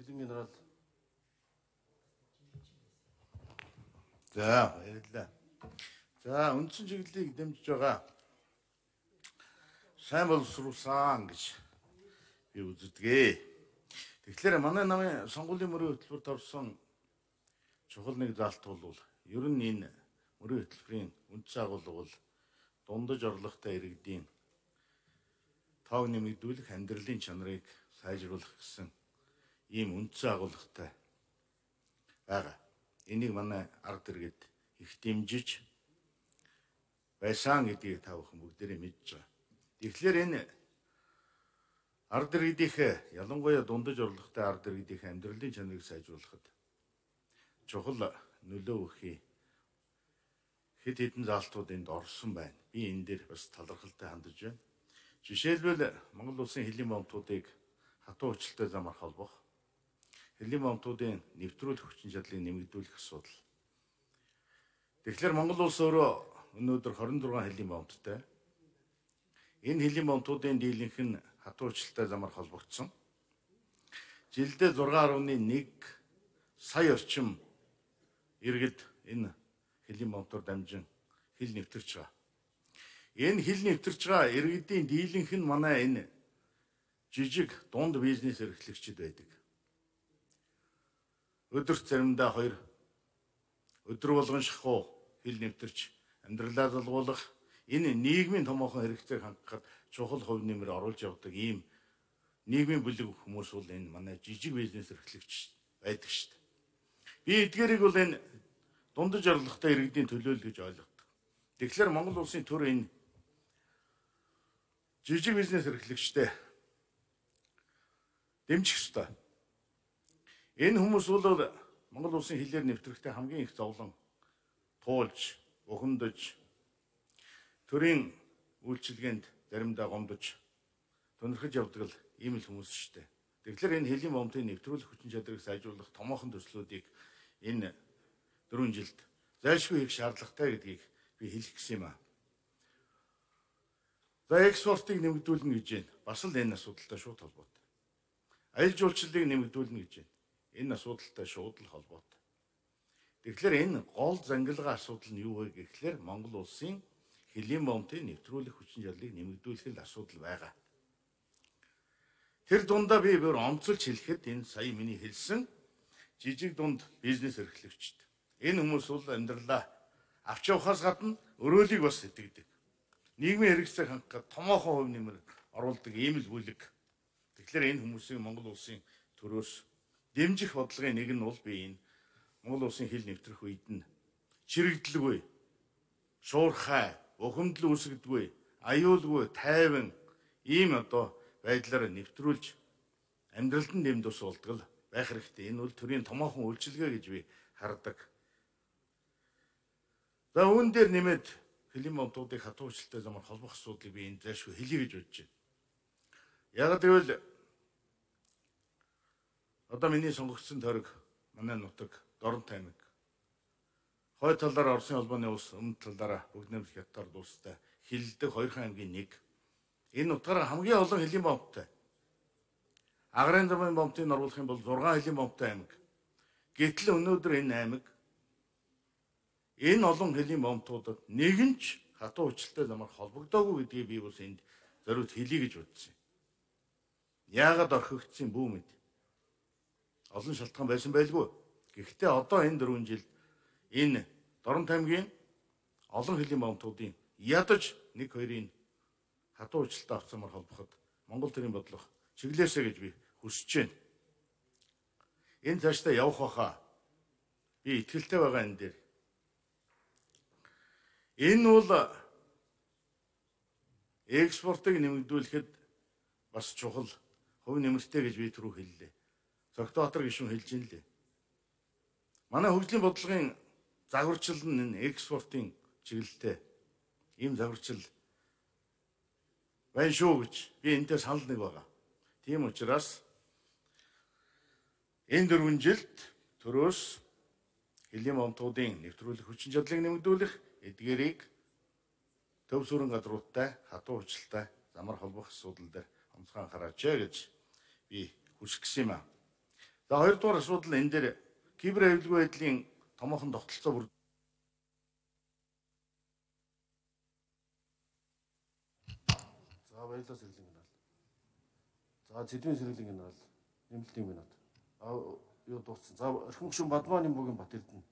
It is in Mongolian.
Хэлийн генерал. За, баярлалаа. За, үндсэн чиглэлийг дэмжиж байгаа сайн боловсруулсан гэж би үздэг. Тэгэхээр манай намын сонгуулийн мөрийн хөтөлбөрт орсон чухал нэг залт бол ер нь энэ мөрийн хөтөлбөрийн үндс агуулга бол дундаж орлоготой иргэдийн тоог нэмэгдүүлэх, амьдралын чанарыг сайжруулах гэсэн ийм үндс агуулгатай байгаа. Энийг манай арга иргэд их дэмжиж байсан гэдгийг та бүхэн бүгдээрээ мэдж байгаа. Тэгэхээр энэ арга иргэдийн ялангуяа дундаж орлоготой арга иргэдийн амьдралын чанарыг сайжруулахад чухал нөлөө өгөхий хэд хэдэн залтууд энд орсон байна. Би энэ дээр бас талархалтай хандаж байна. Жишээлбэл Монгол улсын хэлийн момтуудыг хатуу хүчтэй замаар холбох, хэлийн момтуудын нэвтрүүлэх хүчин чадлыг нэмэгдүүлэх асуудал. Тэгэхээр Монгол улс өөрөө өнөөдөр 26 хэлийн момттой. Энэ хэлийн момтуудын дийлэнх нь хатуу хүчтэй замаар холбогдсон. Жилдээ 6.1 сая орчим иргэд энэ хэлийн момтоор дамжин хил нэвтэрч байгаа. Энэ хил нэвтэрч байгаа иргэдийн дийлэнх нь манай энэ жижиг дунд бизнес эрхлэгчид байдаг. Өдөрт заримдаа 2 өдөр болгон шахуу хил нэвтэрч амьдралаа залгуулах, энэ нийгмийн томоохон хэрэгцээг хангахад чухал хувь нэмэр оруулж явдаг ийм нийгмийн бүлэг хүмүүс бол энэ манай жижиг бизнес эрхлэгч байдаг шүү дээ. Би эдгээрийг бол энэ дундаж орлоготой иргэдийн төлөөлөл гэж ойлгодог. Тэгэхээр Монгол улсын төр энэ жижиг бизнес эрхлэгчтэй дэмжих ёстой. Энэ хүмүүс бол Монгол улсын хилээр нэвтрэхтэй хамгийн их зовлон туулж, бухимдаж, төрийн үйлчилгээнд заримдаа гомдож, тунирхаж явдаг л ийм л хүмүүс шүү дээ. Тэгэхээр энэ хэлийн момтын нэвтрүүлэх хүчин чадрыг сайжруулах томоохон төслүүдийг энэ 4 жилд зайлшгүй хийх шаардлагатай гэдгийг би хэлэх гэсэн юм аа. За экспортыг нэмэгдүүлнэ гэж байна. Бас л энэ асуудалтай шууд холбоотой. Аялал жуулчлалыг нэмэгдүүлнэ гэж байна. Энэ асуудалтай шууд л холбоотой. Тэгэхээр энэ гол зангилгаа асуудал нь юу вэ гэхээр Монгол улсын хэлийн момтын нэвтрүүлэх хүчин чадлыг нэмэгдүүлэх л асуудал байгаа. Тэр дундаа би бүр онцолж хэлэхэд энэ сая миний хэлсэн жижиг дунд бизнес эрхлэгчид. Энэ хүмүүс бол амьдралаа авч явахаас гадна өрөөлийг бас сэтгэдэг. Нийгмийн хэрэгцээг хангахад томоохон хувь нэмэр оруулдаг ийм л бүлэг. Тэгэхээр энэ хүмүүсийг Монгол улсын төрөөс дэмжих бодлогын нэг нь бол би энэ Монгол улсын хил нэвтрэх үед нь чирэгдэлгүй, шуурхай, бухимдал үүсгдэггүй, аюулгүй, тайван ийм байдлаар нэвтрүүлж амьдралд нь дэм тус болдог л байх хэрэгтэй. Энэ бол төрийн томоохон үйлчилгээ гэж би хардаг. За үүн дээр нэмээд хэлийн момтуудыг хатуу хүчтэй замаар холбох асуудлыг би энэ зайлшгүй хэлье гэж бодож байна. Яг гэвэл одоо миний сонгогдсон тойрог манай нутаг Дорн аймаг. Хойд талаар Оросын холбооны улс, өмнөд талаараа Бүгд найрамдах Хятад улстай хилдэг 2 аймгийн нэг. Энэ утгаараа хамгийн олон хэлийн момттой. Агарын замын момтыг оруулах юм бол 6 хэлийн момттой аймаг. Гэтэл өнөөдөр энэ аймаг энэ олон хэлийн момтуудад нэгэнч хатуу хүчтэй замаар холбогдоогүй гэдгийг би бас энд зориуд хэлье гэж бодсон. Яагаад орхигдсон бүү мэд. Олон шалтгаан байсан байлгүй. Гэхдээ одоо энэ 4 жилд энэ Дорн аймгийн олон хэлийн момтуудын ядаж 1-2-ын хатуу хүчтэй авцамаар холбоход Монгол төрийн бодлого чиглэлээсэ гэж би хүсэж байна. Энэ цаашдаа явах байхаа. Би итгэлтэй байгаа энэ дээр. Энэ бол экспортыг нэмэгдүүлэхэд бас чухал хувь нэмэртэй гэж би түрүү хэллээ. Цогтбаатар гишүүн хэлж ин лээ. Манай хөгжлийн бодлогын загварчил нь энэ экспортын чиглэлтэй ийм загварчил байна шүү гэж би энэтэй санал нэг байгаа. Тийм учраас энэ 4 жилд төрөөс хэлийн момтуудын нэвтрүүлэх хүчин чадлыг нэмэгдүүлэх, эдгээрийг төв сүрэн газруудтай хатуу хүчтэй замаар холбох асуудал дээр онцгой анхаараач гэж би хүсэх гэсэн юм аа. За хоёрдугаар асуудал энэ дээр кибер аюулгүй байдлын томоохон тогтолцоо бүр За баярлалаа Сэргэлэн генерал. За Цэдвийн Сэргэлэн генерал нэмэлтийн минут. Юу дууссан. За Орхин гүшин Бадмааны бүгийн Бат Эрдэнэ.